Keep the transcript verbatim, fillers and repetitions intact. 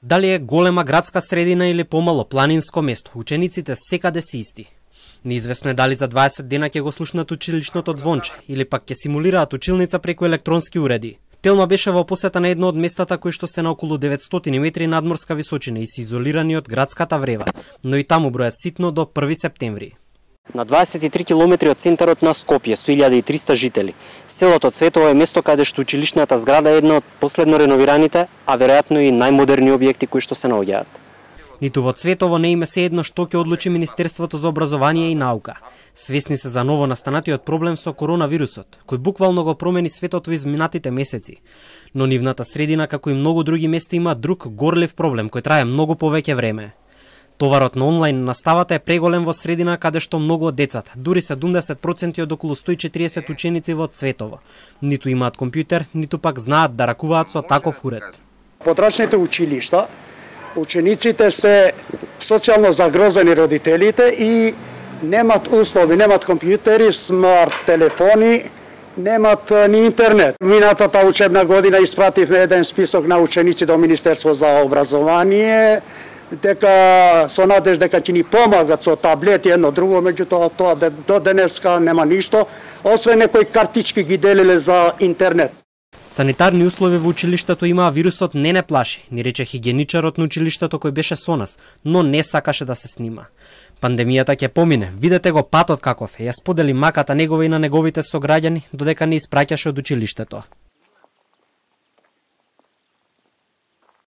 Дали е голема градска средина или помало планинско место, учениците секаде се исти. Неизвестно е дали за дваесет дена ќе го слушнат училишното звонче или пак ќе симулираат училница преку електронски уреди. Телма беше во посета на едно од местата кои што се на околу деветстотини метри надморска височина и се изолирани од градската врева, но и таму бројат ситно до први септември. На дваесет и три километри од центарот на Скопје со илјада и триста жители, селото Цветово е место каде што училишната зграда е една од последно реновираните, а веројатно и најмодерни објекти кои што се наоѓаат. Ниту во Цветово не име се едно што ќе одлучи Министерството за образование и наука. Свесни се за ново настанатиот проблем со коронавирусот, кој буквално го промени светот во изминатите месеци. Но нивната средина, како и многу други места, има друг горлив проблем кој трае многу повеќе време. Товарот на онлайн наставата е преголем во средина каде што многу од децата, дури седумдесет проценти од околу сто и четириесет ученици во Цветово, ниту имаат компјутер, ниту пак знаат да ракуваат со таков уред. Подрачните училишта, учениците се социјално загрозени родителите и немат услови, немат компјутери, смарт телефони, немат ни интернет. Минатата учебна година испративме еден список на ученици до Министерство за образование, дека со надеж дека ќе ни помагат со таблети едно друго, меѓутоа тоа до денеска нема ништо, освен некои картички ги делиле за интернет. Санитарни услови во училиштето има, вирусот не не плаши, ни рече хигиеничарот на училиштето кој беше со нас, но не сакаше да се снима. Пандемијата ќе помине, видете го патот каков е, ја сподели маката негова и на неговите сограѓани, додека не испраќаше од училиштето.